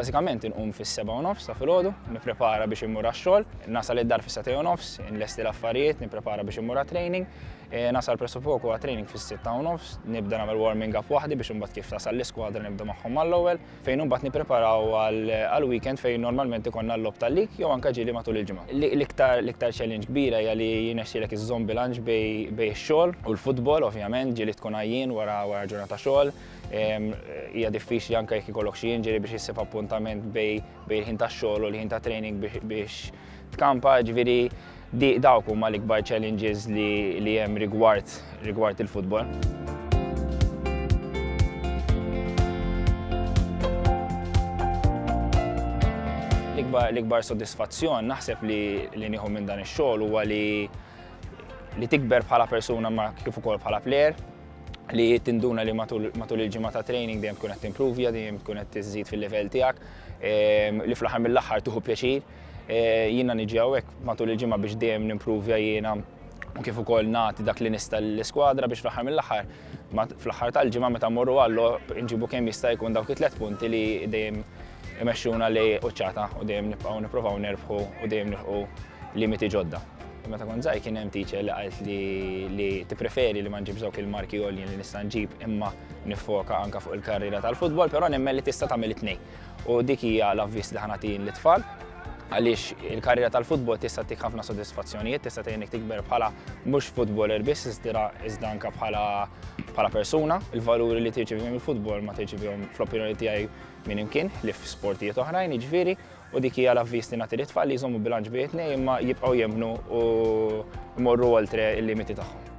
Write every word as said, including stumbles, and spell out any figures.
Bażikament inqum fis-sebgħa u nofs ta' filgħodu, nipprepara biex immur għax-xogħol, nasal id-dar fis-sagħtejn u nofs, inlesti l-affarijiet, nipprepara biex immur għat-training, nasal pressappoku għat-training fis-sitta u nofs, nibda nagħmel warming up waħdi biex imbagħad kif tasal l-iskwadra nibda magħhom mal-ewwel, fejn imbagħad nippreparaw għal-weekend fejn normalment ikollna l-logħob tal-league jew anke ġieli matul il-ġimgħa. L-iktar challenge kbira hija li jirnexxielek iżżomm bilanċ bejn ix-xogħol u l-futbol, ovvjament, ġieli tkun għajjien wara ġurnata xogħol. Hija diffiċli anke jekk ikollok xi injury biex issib appuntament bejn il-ħin tax-xogħol u l-ħin ta' training biex tkampa, ġifieri dawk huma l-ikbar challenges li hemm rigward rigward il-futbol. L-ikbar soddisfazzjon naħseb li nieħu minn dan ix-xogħol huwa li li tikber bħala persuna ma kif ukoll bħala player, li tinduna li matul il-ġimgħa ta' training dejjem tkun qed timprovja, dejjem tkun qed tiżid fil-livell tiegħek, li fl-aħħar mill-aħħar tieħu pjaċir. Jiena niġi hawnhekk matul il-ġimgħa biex dejjem nimprovja jiena u kif ukoll nagħti dak li nista' lill-iskwadra biex fl-aħħar mill-aħħar fl-aħħar tal-ġimgħa meta mmorru għall-logħob inġibu kemm jista' jkun dawk it-tliet punti li dejjem imexxuna lejn quċċata u dejjem nibqgħu nippruvaw nerbħu u dejjem nilħqu limiti ġodda. Meta kont żgħir kien hemm teacher li qalt li tippreferi li ma nġibx dawk il-marki għoljin li nista' nġib imma nifoka anke fuq il-karriera tal-futbol, però nemmen li tista' tagħmel it-tnejn. U dik hija l-avviż li ħa nagħti lit-tfal, għaliex il-karriera tal-futbol tista' ttik ħafna sodisfazzjonijiet, tista' tgħinek tikber bħala mhux futboler biss, iżda anke bħala persuna. Il-valuri li tirċevihom mill-futbol ma tirċevihom fl-opinjoni tiegħi minn imkien li f'sportijiet oħrajn, jiġifieri, u dik hija l-avviż li nagħti lit-tfal li jżommu bilanċ bejn it-tnejn imma jibqgħu jemmnu u jmorru oltre il-limiti tagħhom.